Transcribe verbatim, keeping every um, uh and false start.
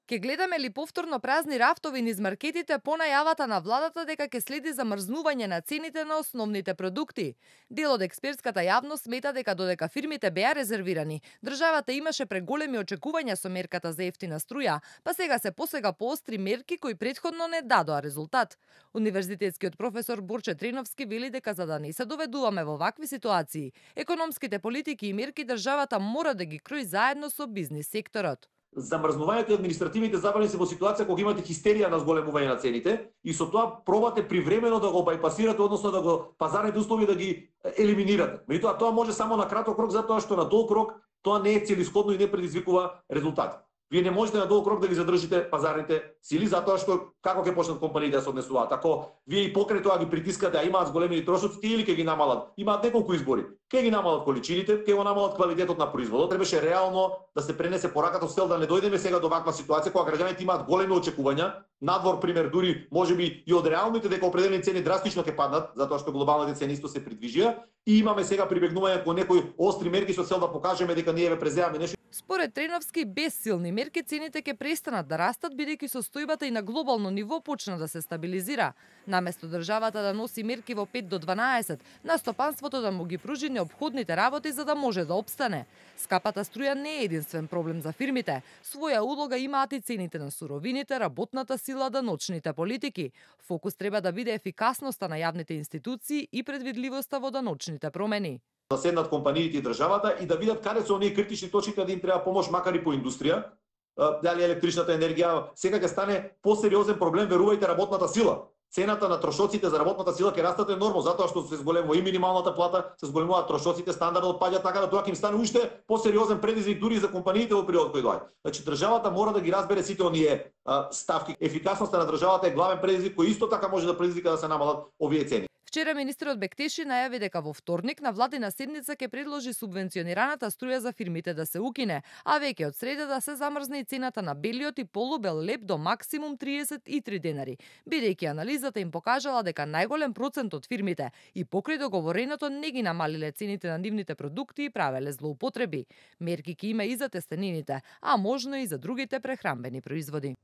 Ке гледаме ли повторно празни рафтови низ маркетите по најавата на владата дека ќе следи замрзнување на цените на основните продукти? Дел од експертската јавност смета дека додека фирмите беа резервирани, државата имаше преголеми очекувања со мерката за ефтина струја, па сега се посега поостри мерки кои претходно не дадоа резултат. Универзитетскиот професор Борче Треновски вели дека за да не се доведуваме во вакви ситуации, економските политики и мерки државата мора да ги крои заедно со бизнис секторот. Замрзнувањето и административните забрани се во ситуација кога имате хистерија на зголемување на цените и со тоа пробате привремено да го бајпасирате, односно да го пазарните услови да ги елиминирате. Меѓутоа тоа може само на краток рок, затоа што на долг рок тоа не е целисходно и не предизвикува резултати. Вие не можете на долг рок да ги задржите пазарните сили, затоа што како ќе почнат компаниите да се однесуваат. Ако вие и покрај тоа ги притискате, а имаат зголемени трошоци, или ќе ги намалат. Имаат неколку избори. Ќе ги намалат количините, ќе го намалат квалитетот на производот. Требаше реално да се пренесе пораката со цел да не дојдеме сега до ваква ситуација кога граѓаните имаат големи очекувања. Надвор пример дури можеби и од реалните дека определени цени драстично ќе паднат, затоа што глобалните цени исто се придвижија и имаме сега прибегнување кон некои остри мерки со цел да покажеме дека ние ве преземаме нешто. Според Треновски, без силни мерки цените ќе престанат да растат бидејќи состојбата и на глобално ниво почна да се стабилизира. Наместо државата да носи мерки во пет до дванаесет, на стопанството да му ги пружи неопходните работи за да може да опстане. Скапата струја не е единствен проблем за фирмите. Своја улога имаат и цените на суровините, работната сила, даночните политики. Фокус треба да биде ефикасноста на јавните институции и предвидливоста во даночните промени. Да седнат компаниите и државата и да видат каде се оние критични точки каде им треба помош, макар и по индустрија, дали електричната енергија. Сега ќе стане посериозен проблем, верувајте, работната сила. Цената на трошоците за работната сила ќе растат енормно, затоа што се зголемува и минималната плата, се зголемуваат трошоците, стандардот паѓа, така да тоа ќе им стане уште посериозен предизвик дури за компаниите во периодот кој доаѓа. Значи државата мора да ги разбере сите оние а, ставки. Ефикасноста на државата е главен предизвик кој исто така може да предизвика да се намалат овие цени. Вчера министерот Бектеши најави дека во вторник на владина седница ќе предложи субвенционираната струја за фирмите да се укине, а веќе од среда да се замрзне и цената на белиот и полубел леб до максимум триесет и три денари, бидејќи анализата им покажала дека најголем процент од фирмите и покрај договореното не ги намалиле цените на нивните продукти и правеле злоупотреби. Мерки ќе има и за тестенините, а можно и за другите прехранбени производи.